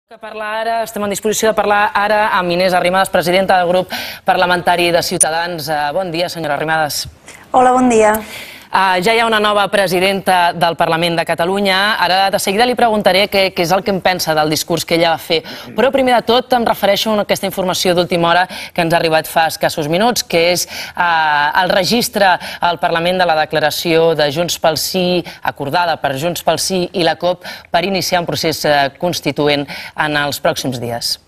Estem en disposició de parlar ara amb Inés Arrimadas, presidenta del grup parlamentari de Ciutadans. Bon dia, senyora Arrimadas. Hola, bon dia. Ja hi ha una nova presidenta del Parlament de Catalunya. Ara de seguida li preguntaré què és el que em pensa del discurs que ella va fer. Però primer de tot em refereixo a aquesta informació d'última hora que ens ha arribat fa escassos minuts, que és el registre al Parlament de la declaració de Junts pel Sí, acordada per Junts pel Sí i la COP, per iniciar un procés constituent en els pròxims dies.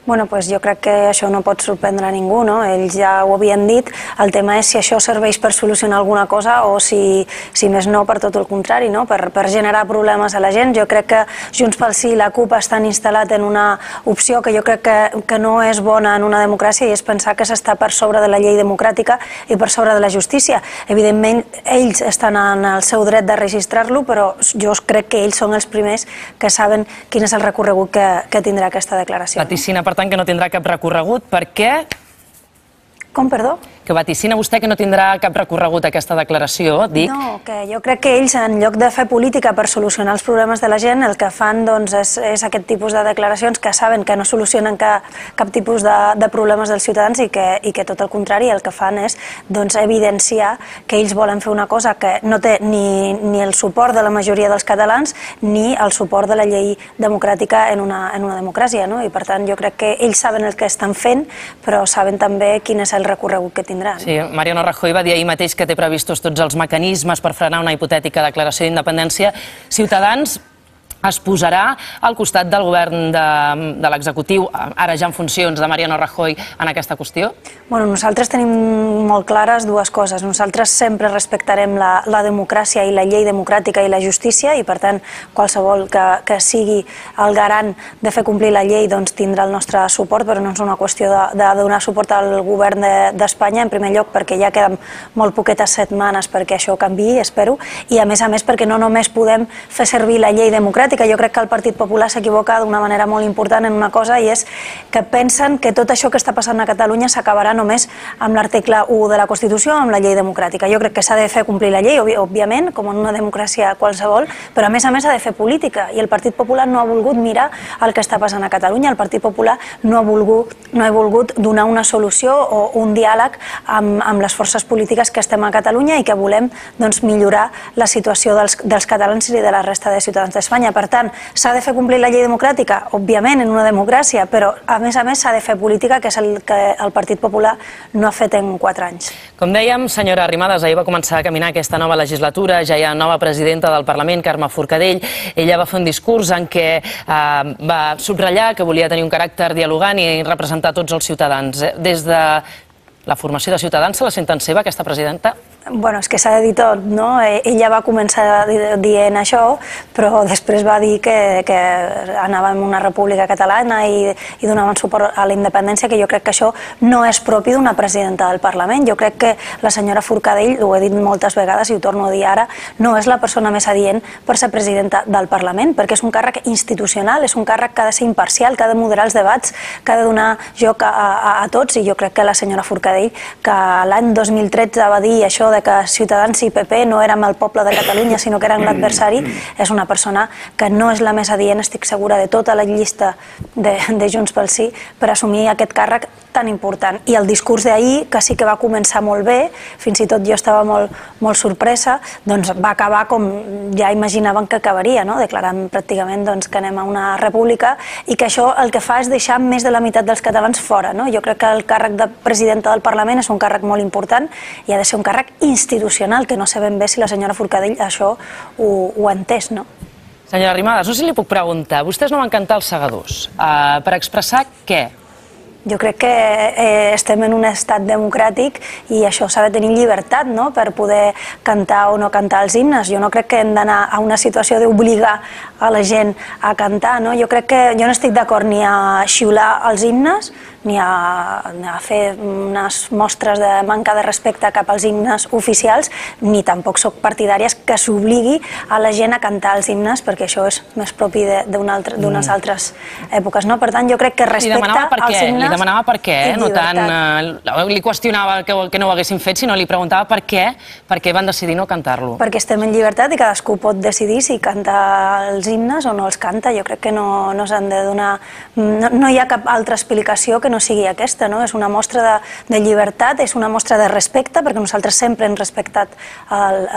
Bueno, doncs jo crec que això no pot sorprendre a ningú, no? Ells ja ho havien dit. El tema és si això serveix per solucionar alguna cosa o si més no per tot el contrari, no? Per generar problemes a la gent. Jo crec que Junts pel Sí i la CUP estan instal·lats en una opció que jo crec que no és bona en una democràcia, i és pensar que s'està per sobre de la llei democràtica i per sobre de la justícia. Evidentment, ells estan en el seu dret de registrar-lo, però jo crec que ells són els primers que saben quin és el recorregut que tindrà aquesta declaració. Vaticina, per tant, que no tindrà cap recorregut. Per què? Com, perdó? Que vaticina vostè que no tindrà cap recorregut aquesta declaració, dic? No, que jo crec que ells, en lloc de fer política per solucionar els problemes de la gent, el que fan és aquest tipus de declaracions que saben que no solucionen cap tipus de problemes dels ciutadans i que tot el contrari, el que fan és evidenciar que ells volen fer una cosa que no té ni el suport de la majoria dels catalans ni el suport de la llei democràtica en una democràcia, no? I per tant jo crec que ells saben el que estan fent, però saben també quin és el recorregut que tindran. Sí, Mariano Rajoy va dir ahir mateix que té previstos tots els mecanismes per frenar una hipotètica declaració d'independència. Ciutadans es posarà al costat del govern de l'executiu, ara ja en funcions, de Mariano Rajoy, en aquesta qüestió? Bueno, nosaltres tenim molt clares dues coses. Nosaltres sempre respectarem la democràcia i la llei democràtica i la justícia, i per tant qualsevol que sigui el garant de fer complir la llei tindrà el nostre suport, però no és una qüestió de donar suport al govern d'Espanya, en primer lloc perquè ja queden molt poquetes setmanes perquè això canviï, espero, i a més perquè no només podem fer servir la llei democràtica. Jo crec que el Partit Popular s'equivoca d'una manera molt important en una cosa, i és que pensen que tot això que està passant a Catalunya s'acabarà només amb l'article 1 de la Constitució, amb la llei democràtica. Jo crec que s'ha de fer complir la llei, òbviament, com en una democràcia qualsevol, però a més s'ha de fer política, i el Partit Popular no ha volgut mirar el que està passant a Catalunya. El Partit Popular no ha volgut donar una solució o un diàleg amb les forces polítiques que estem a Catalunya i que volem millorar la situació dels catalans i de la resta de ciutadans d'Espanya. Per tant, s'ha de fer complir la llei democràtica, òbviament, en una democràcia, però a més s'ha de fer política, que és el que el Partit Popular no ha fet en 4 anys. Com dèiem, senyora Arrimadas, ahir va començar a caminar aquesta nova legislatura, ja hi ha nova presidenta del Parlament, Carme Forcadell. Ella va fer un discurs en què va subratllar que volia tenir un caràcter dialogant i representar tots els ciutadans. Des de la formació de Ciutadans se la senten seva, aquesta presidenta? Bueno, és que s'ha de dir tot, no? Ella va començar dient això, però després va dir que anàvem a una república catalana i donaven suport a la independència, que jo crec que això no és propi d'una presidenta del Parlament. Jo crec que la senyora Forcadell, ho he dit moltes vegades i ho torno a dir ara, no és la persona més adient per ser presidenta del Parlament, perquè és un càrrec institucional, és un càrrec que ha de ser imparcial, que ha de moderar els debats, que ha de donar joc a tots, i jo crec que la senyora Forcadell, que l'any 2013 va dir això de que Ciutadans i PP no érem el poble de Catalunya, sinó que eren l'adversari, és una persona que no és la més adient, estic segura, de tota la llista de Junts pel Sí per assumir aquest càrrec tan important. I el discurs d'ahir, que sí que va començar molt bé, fins i tot jo estava molt sorpresa, va acabar com ja imaginaven que acabaria, declarant pràcticament que anem a una república, i que això el que fa és deixar més de la meitat dels catalans fora. Jo crec que el càrrec de presidenta del Parlament és un càrrec molt important i ha de ser un càrrec institucional, que no sé ben bé si la senyora Forcadell això ho ha entès, no? Senyora Arrimadas, no sé si li puc preguntar, vostès no van cantar els segadors. Per expressar què? Jo crec que estem en un estat democràtic i això s'ha de tenir llibertat per poder cantar o no cantar els himnes. Jo no crec que hem d'anar a una situació d'obligar a la gent a cantar. Jo crec que jo no estic d'acord ni a xiular els himnes ni a fer unes mostres de manca de respecte cap als himnes oficials, ni tampoc soc partidàries que s'obligui a la gent a cantar els himnes, perquè això és més propi d'unes altres èpoques. Per tant, jo crec que respecte als himnes demanava per què, no tant... Li qüestionava que no ho haguessin fet, sinó li preguntava per què van decidir no cantar-lo. Perquè estem en llibertat i cadascú pot decidir si canta els himnes o no els canta. Jo crec que no s'han de donar... No hi ha cap altra explicació que no sigui aquesta, no? És una mostra de llibertat, és una mostra de respecte, perquè nosaltres sempre hem respectat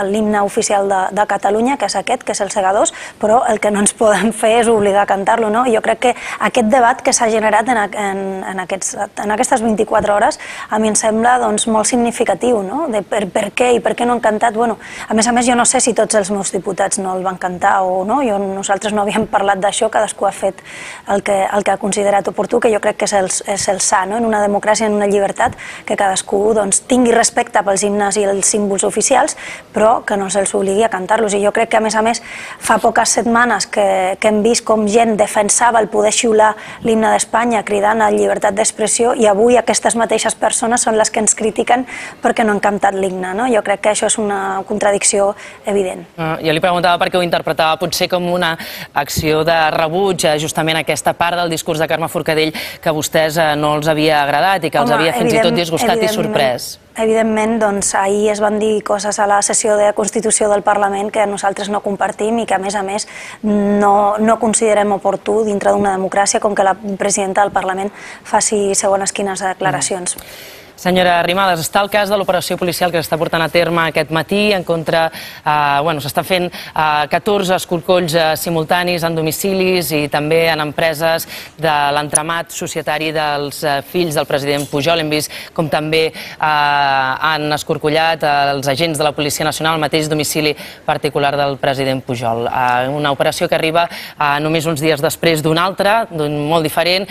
l'himne oficial de Catalunya, que és aquest, que és el Segadors, però el que no ens poden fer és obligar a cantar-lo, no? Jo crec que aquest debat que s'ha generat en aquestes 24 hores a mi em sembla molt significatiu, no? De per què i per què no han cantat. A més, jo no sé si tots els meus diputats no el van cantar o no, nosaltres no havíem parlat d'això, cadascú ha fet el que ha considerat oportú, que jo crec que és el sa, en una democràcia, en una llibertat, que cadascú tingui respecte pels himnes i els símbols oficials, però que no se'ls obligui a cantar-los. I jo crec que, a més, fa poques setmanes que hem vist com gent defensava el poder xiular l'himne d'Espanya cridant a llibertat d'expressió, i avui aquestes mateixes persones són les que ens critiquen perquè no han cantat l'himne. Jo crec que això és una contradicció evident. Jo li preguntava per què ho interpretava potser com una acció de rebuig justament aquesta part del discurs de Carme Forcadell que a vostès no els havia agradat i que els havia fins i tot disgustat i sorprès. Evidentment, ahir es van dir coses a la sessió de Constitució del Parlament que nosaltres no compartim i que, a més, no considerem oportú dintre d'una democràcia com que la presidenta del Parlament faci segons quines declaracions. Senyora Arrimadas, està el cas de l'operació policial que s'està portant a terme aquest matí en contra... S'estan fent 14 escorcolls simultanis en domicilis i també en empreses de l'entramat societari dels fills del president Pujol. Hem vist com també han escorcollat els agents de la Policia Nacional al mateix domicili particular del president Pujol. Una operació que arriba només uns dies després d'una altra, molt diferent,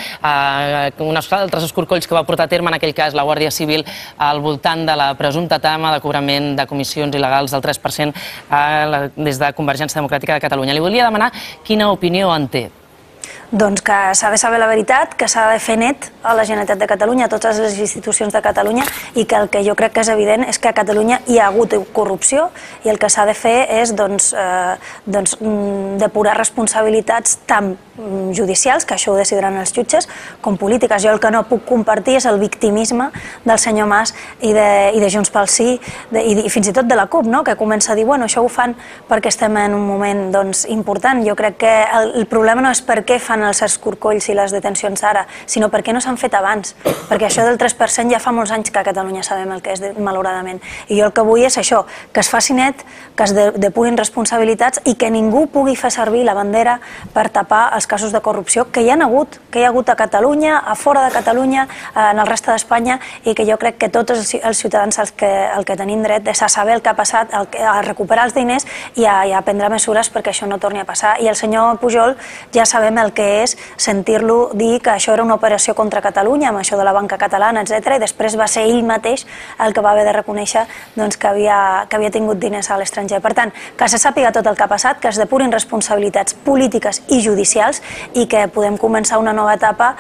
uns altres escorcolls que va portar a terme en aquell cas la Guàrdia Civil al voltant de la presumpta trama de cobrament de comissions il·legals del 3% des de Convergència Democràtica de Catalunya. Li volia demanar quina opinió en té. Doncs que s'ha de saber la veritat, que s'ha de fer net a la Generalitat de Catalunya, a totes les institucions de Catalunya, i que el que jo crec que és evident és que a Catalunya hi ha hagut corrupció i el que s'ha de fer és depurar responsabilitats tant judicials, que això ho decidiran els jutges, com polítiques. Jo el que no puc compartir és el victimisme del senyor Mas i de Junts pel Sí i fins i tot de la CUP, que comença a dir això ho fan perquè estem en un moment important. Jo crec que el problema no és per què fan els escorcolls i les detencions ara, sinó per què no s'han fet abans, perquè això del 3% ja fa molts anys que a Catalunya sabem el que és, malauradament. I jo el que vull és això, que es faci net, que es depurin responsabilitats i que ningú pugui fer servir la bandera per tapar els casos de corrupció que hi ha hagut a Catalunya, a fora de Catalunya, en el reste d'Espanya, i que jo crec que tots els ciutadans el que tenim dret és a saber el que ha passat, a recuperar els diners i a prendre mesures perquè això no torni a passar. I el senyor Pujol ja sabem el que és sentir-lo dir que això era una operació contra Catalunya, amb això de la banca catalana, etc. I després va ser ell mateix el que va haver de reconèixer que havia tingut diners a l'estranger. Per tant, que se sàpiga tot el que ha passat, que es depurin responsabilitats polítiques i judicials i que podem començar una nova etapa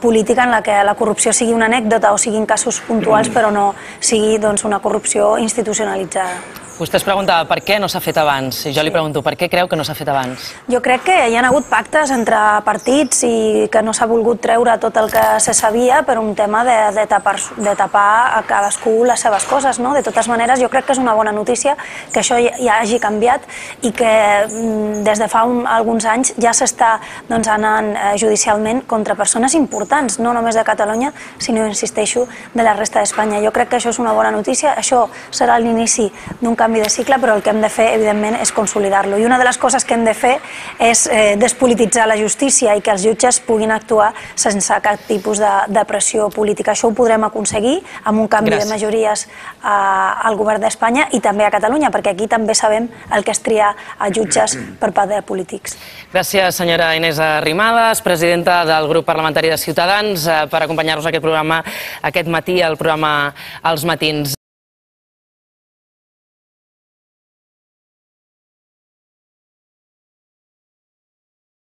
política en la que la corrupció sigui una anècdota o siguin casos puntuals, però no sigui una corrupció institucionalitzada. Vostè es preguntava per què no s'ha fet abans. I jo li pregunto, per què creu que no s'ha fet abans? Jo crec que hi ha hagut pactes entre partits i que no s'ha volgut treure tot el que se sabia per un tema de tapar a cadascú les seves coses. De totes maneres, jo crec que és una bona notícia que això ja hagi canviat i que des de fa alguns anys ja s'està anant judicialment contra persones importants, no només de Catalunya, sinó, insisteixo, de la resta d'Espanya. Jo crec que això és una bona notícia. Això serà l'inici d'un canvi de cicle, però el que hem de fer, evidentment, és consolidar-lo. I una de les coses que hem de fer és despolititzar la justícia i que els jutges puguin actuar sense cap tipus de pressió política. Això ho podrem aconseguir amb un canvi de majories al govern d'Espanya i també a Catalunya, perquè aquí també sabem el que és triar a jutges per part de polítics. Gràcies, senyora Inés Arrimadas, presidenta del grup parlamentari de Ciutadans, per acompanyar-nos a aquest programa aquest matí, al programa Els Matins.